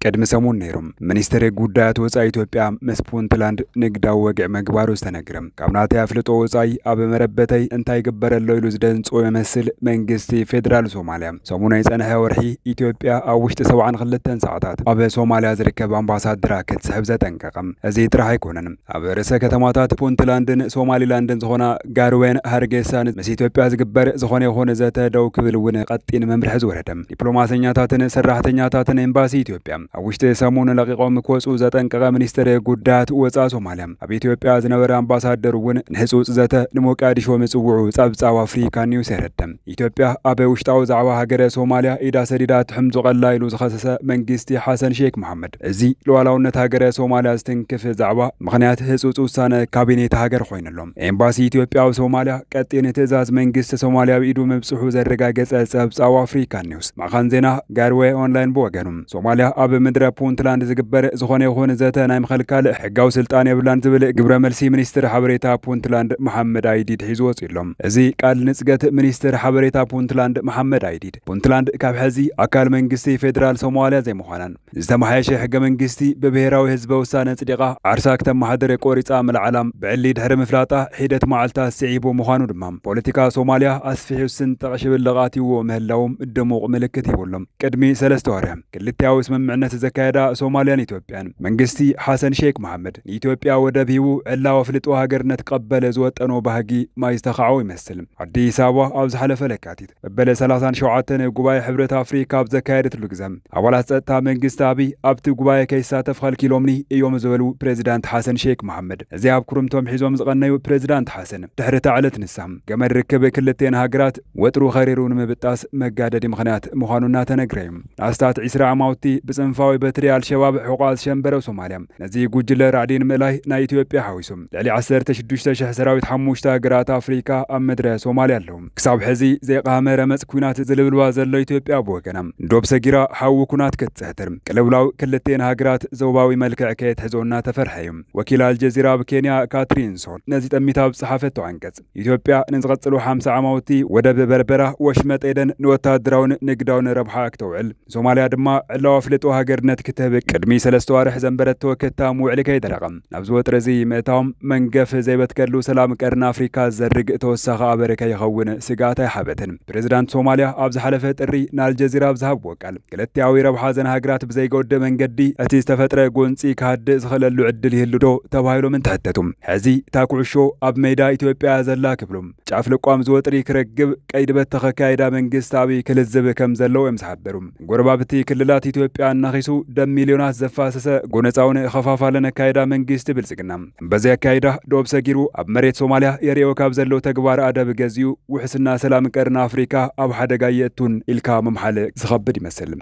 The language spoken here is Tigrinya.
ቅድሚ ሰሙን ነይሩ። ሚኒስትር ጉዳያት ወጻኢ ኢትዮጵያ ምስ ፑንትላንድ ንግዳዊ ወግዒ ምግባሩ ዝተነግረ። ካብ ናተይ ኣፍልጦ ወጻኢ ኣብ መረበተይ እንታይ ይግበር ኣሎ ኢሉ ዝደንጾ ይመስል መንግስቲ ፌደራል ሶማልያ ሰሙናይ ዝጸንሐ ወርሒ ኢትዮጵያ ኣብ ውሽጢ ሰብዓን ክልተን ሰዓታት ኣብ ሶማልያ ዝርከብ ኣምባሳደራ ክትስሕብ ዘጠንቀቐ። እዚ ጥራሕ ኣይኮነን። ኣብ ርእሰ ከተማታት ፑንትላንድን ሶማሊላንድን ዝኾና ጋርዌን ሃርጌሳን ምስ ኢትዮጵያ ዝግበር ዝኾነ ይኹን ዘተ ደው ክብል እውን ቀጢን መምርሒ ዝወረደ። ዲፕሎማሰኛታትን ሰራሕተኛታትን ኤምባሲ ኢትዮጵያ ኣብ ውሽጢ ሰሙን ለቂቖም ክወፁ ዘጠንቀቐ ሚኒስትር ጉዳያት ወፃኢ ሶማልያ ኣብ ኢትዮጵያ ዝነበረ ኣምባሳደር እውን ንህፁፅ ዘተ ንሞቃዲሾ ምፅውዑ ጸብጻብ ኣፍሪካ ኒውስ የረደ። ኢትዮጵያ ኣብ ውሽጣዊ ዛዕባ ሃገረ ሶማልያ ኢዳ ሰዲዳ ትሕምዞ ቀላ ኢሉ ዝኸሰሰ መንግስቲ ሓሰን ሼክ መሓመድ፣ እዚ ሉዓላውነት ሃገረ ሶማልያ ዝትንክፍ ዛዕባ ምኽንያት ህጹጽ ውሳነ ካቢኔት ሃገር ኮይኑ ኣሎ። ኤምባሲ ኢትዮጵያ ኣብ ሶማልያ ቀጢን ትእዛዝ መንግስቲ ሶማልያ ኣብ ኢዱ ምብጽሑ ዘረጋገጸ ጸብጻብ ኣፍሪካ ኒውስ። ማእኸን ዜና ጋርዌ ኦንላይን ብወገኑ፣ ሶማልያ ኣብ ምድረ ፑንትላንድ ዝግበር ዝኾነ ይኹን ዘተ ናይ ምኽልካል ሕጋዊ ስልጣን የብላን ዝብል ግብረ መልሲ ሚኒስትር ሓበሬታ ፑንትላንድ መሓመድ ኣይዲድ ሒዙ ወጺኡ ኣሎ። እዚ ቃል ንጽገት ሚኒስትር ሓበሬታ ፑንትላንድ መሓመድ ኣይዲድ፣ ፑንትላንድ ካብ ሕዚ ኣካል መንግስቲ ፌደራል ሶማልያ ዘይምዃናን ዝተመሓየሸ ሕገ መንግስቲ ብብሄራዊ ህዝበ ውሳነ ጽዲቓ ዓርሳ ክተመሓድር ቆሪጻ ምልዓላም ብዕሊ ድሕሪ ምፍላጣ ሒደት መዓልታት ስዒቡ ምዃኑ ድማ ፖለቲካ ሶማልያ ኣስፊሑ ስንጠቕ ሽብልቕ ኣትይዎ ምህላዎም ድሙቕ ምልክት ይብሎም። ቅድሚ ሰለስተ ወርሒ ክልቲያዊ ስምምዕነት ዘካየዳ ሶማልያን ኢትዮጵያን መንግስቲ ሓሰን ሼክ መሓመድ ንኢትዮጵያ ወደብ ሂቡ ዕላዊ ኣፍልጦ ሃገርነት ክቐበል ዝወጠኖ ባህጊ ማይ ዝተኻዕዎ ይመስል። ኣዲስ ኣበባ ኣብ ዝሓለፈ ለካቲት መበለ ሰላሳን ሸውዓተን ጉባኤ ሕብረት ኣፍሪካ ኣብ ዘካየደትሉ ግዜ ኣባላት ጸጥታ መንግስቲ ኣብይ ኣብቲ ጉባኤ ከይሳተፍ ከልኪሎምኒ እዮም ዝበሉ ፕሬዚዳንት ሓሰን ሼክ መሓመድ፣ እዚ ኣብ ኩርምቶም ሒዞም ዝቐነዩ ፕሬዚዳንት ሓሰን ድሕሪ እታ ዕለት ንሳ ገመድ ርክብ ክልቴን ሃገራት ወጥሩ ኸሪሩ ንምብጣስ መጋደዲ ምኽንያት ምዃኑ እናተነግረ እዩ። ንኣስታት ዒስራ ዓማውቲ ብጽንፋዊ በትሪ ኣልሸባብ ሕቋ ዝሸንበረ ሶማልያ ነዚ ጉጅለ ራዕዲ ንምእላይ ናይ ኢትዮጵያ ሓዊሱ ልዕሊ ዓሰርተ ሽዱሽተ ሽሕ ሰራዊት ሓሙሽተ ሃገራት ኣፍሪካ ኣብ ምድረ ሶማልያ ኣለዉ። ክሳብ ሕዚ ዘይቃመ ረመጽ ኩናት ዝልብልባ ዘሎ ኢትዮጵያ ብወገና ዶብ ሰጊራ ሓዊ ኩናት ክትጽሕትር ቅልውላው ክልቴን ሃገራት ዞባዊ መልክዕ ከየትሕዞ እናተፈርሐ እዩ። ወኪል ኣልጀዚራ ኣብ ኬንያ ካትሪን ሶን ነዚ ጠሚታ ኣብ ዝጸሓፈቶ ዓንቀጽ፣ ኢትዮጵያ ንዝቐጽሉ ሓምሳ ዓማውቲ ወደብ በርበራ፣ ወሽመጥ ኤደን ንወታደራውን ንግዳውን ረብሓ ክተውዕል፣ ሶማልያ ድማ ዕላዊ ኣፍልጦ ሃገርነት ክትህብ ቅድሚ ሰለስተ ዋርሕ ዘንበረቶ ክታም ውዕሊ ከይደረቐ ናብ ዝወጥረ እዚ ምእታዎም መንገፍ ዘይበትከሉ ሰላም ቀርኒ ኣፍሪካ ዘርግ ተወሳኺ ኣበረ ከይኸውን ስግኣት ኣይሓበትን። ፕሬዚዳንት ሶማልያ ኣብ ዝሓለፈ ጥሪ ንኣልጀዚራ ኣብ ዝሃብዎ ቃል፣ ክልቲያዊ ረብሓ ዘን ሃገራት ብዘይጎድእ መንገዲ እቲ ዝተፈጥረ ጎንፂ ክሃድእ ዝኽእለሉ ዕድል ይህሉ ዶ ተባሂሎም እንትሕተቱ፣ ሕዚ እታ ኩዕሾ ኣብ ሜዳ ኢትዮጵያ ዘላ ክብሉ ጫፍ ልቋም ዝወጥሪ ክረግብ ቀይዲ በተኸ ኣካይዳ መንግስቲ ኣብይ ክልዝብ ከም ዘለዎ እዮም ዝሓበሩ። ጎረባብቲ ክልላት ኢትዮጵያ እናኺሱ ደም ሚልዮናት ዘፋሰሰ ጎነፃውን ኸፋፋልን ኣካይዳ መንግስቲ ብልጽግና፣ በዚ ኣካይዳ ዶብ ሰጊሩ ኣብ መሬት ሶማልያ የርእዮ ካብ ዘሎ ተግባር ኣደብ ገዚኡ ውሕስና ሰላም ቀርኒ ኣፍሪካ ኣብ ሓደጋ የእቱን ኢልካ ምምሓል ዝኸብድ ይመስል።